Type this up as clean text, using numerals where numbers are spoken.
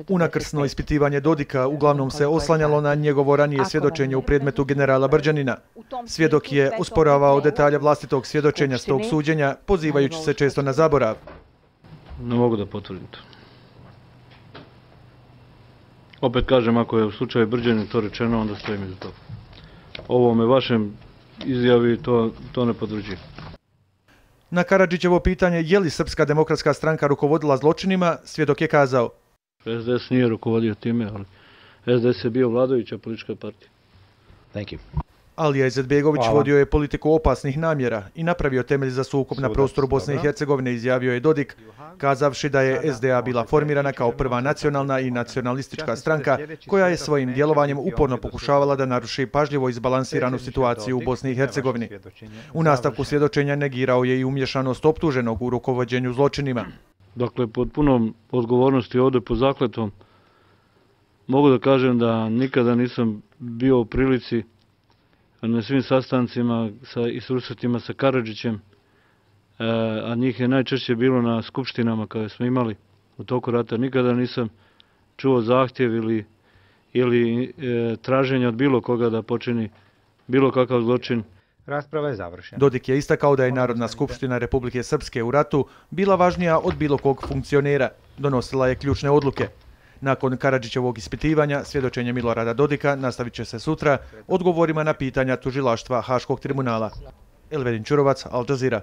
Unakrsno ispitivanje Dodika uglavnom se oslanjalo na njegovo ranije svjedočenje u predmetu generala Brđanina. Svjedok je osporavao detalje vlastitog svjedočenja s tog suđenja, pozivajući se često na zaborav. Ne mogu da potvrdim to. Opet kažem, ako je u slučaju Brđanin to rečeno, onda stojim iza toga. Ovome vašem izjavi to ne potvrđujem. Na Karadžićevo pitanje je li Srpska demokratska stranka rukovodila zločinima, svjedok je kazao: SDS nije rukovodio time, ali SDS je bio vladajuća politička partija. Thank you. Alija Izetbegović vodio je politiku opasnih namjera i napravio temelj za sukob na prostoru Bosne i Hercegovine, izjavio je Dodik, kazavši da je SDA bila formirana kao prva nacionalna i nacionalistička stranka koja je svojim djelovanjem uporno pokušavala da naruši pažljivo izbalansiranu situaciju u Bosni i Hercegovini. U nastavku svjedočenja negirao je i umješanost optuženog u rukovođenju zločinima. Dakle, pod punom odgovornosti ovdje po zakletom mogu da kažem da nikada nisam bio u prilici na svim sastancima i susretima sa Karadžićem, a njih je najčešće bilo na skupštinama koje smo imali u toku rata. Nikada nisam čuo zahtjev ili traženje od bilo koga da počini bilo kakav zločin. Rasprava je završena. Dodik je istakao da je Narodna skupština Republike Srpske u ratu bila važnija od bilo kog funkcionera. Donosila je ključne odluke. Nakon Karadžićevog ispitivanja, svjedočenje Milorada Dodika nastavit će se sutra odgovorima na pitanja tužilaštva Haškog tribunala. Elvedin Čurovac, Al Jazeera.